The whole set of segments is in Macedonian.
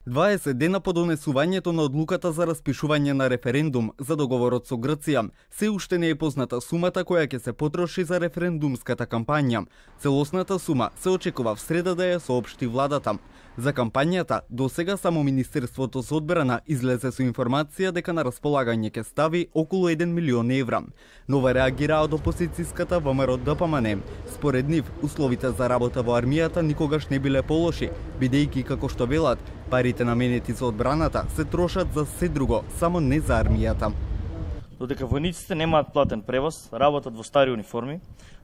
20 дена по донесувањето на одлуката за распишување на референдум за договорот со Грција, се уште не е позната сумата која ќе се потроши за референдумската кампања. Целосната сума се очекува в среда да ја соопшти владата. За кампањата, досега само Министерството за одбрана излезе со информација дека на располагање ќе стави околу 1 милион евра. Нова реагира од опозицијската ВМРО-ДПМН. Според нив, условите за работа во армијата никогаш не биле полоши, бидејќи, како што велат, парите наменети за одбраната се трошат за се друго, само не за армијата. Додека војниците немаат платен превоз, работат во стари униформи,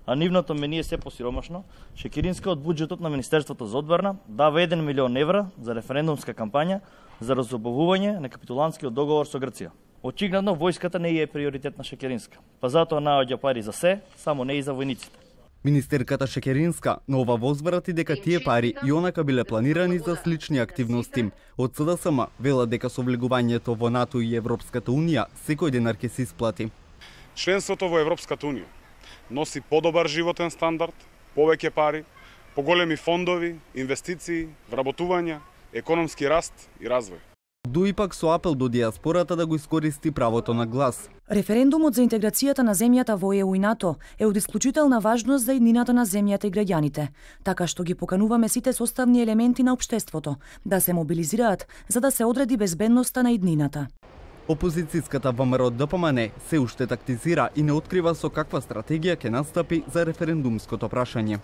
а нивното мение се посиромашно, Шекеринска од буџетот на Министерството за одбрана дава 1 милион евра за референдумска кампања за разобавување на капитулантскиот договор со Грција. Очигледно, војската не е приоритет на Шекеринска, па затоа наоѓа пари за се, само не и за војниците. Министерката Шекеринска нова возврати дека тие пари и онака биле планирани за слични активности. Од СДСМ велат дека со влегувањето во НАТО и Европската Унија секој денар ќе се исплати. Членството во Европската Унија носи подобар животен стандард, повеќе пари, поголеми фондови, инвестиции, вработувања, економски раст и развој. Дуи пак со апел до диаспората да го искористи правото на глас. Референдумот за интеграцијата на земјата во ЕУ и НАТО е од исклучителна важност за иднината на земјата и граѓаните, така што ги покануваме сите составни елементи на општеството да се мобилизираат за да се одреди безбедноста на иднината. Опозицијската ВМРО-ДПМН се уште тактизира и не открива со каква стратегија ќе настапи за референдумското прашање.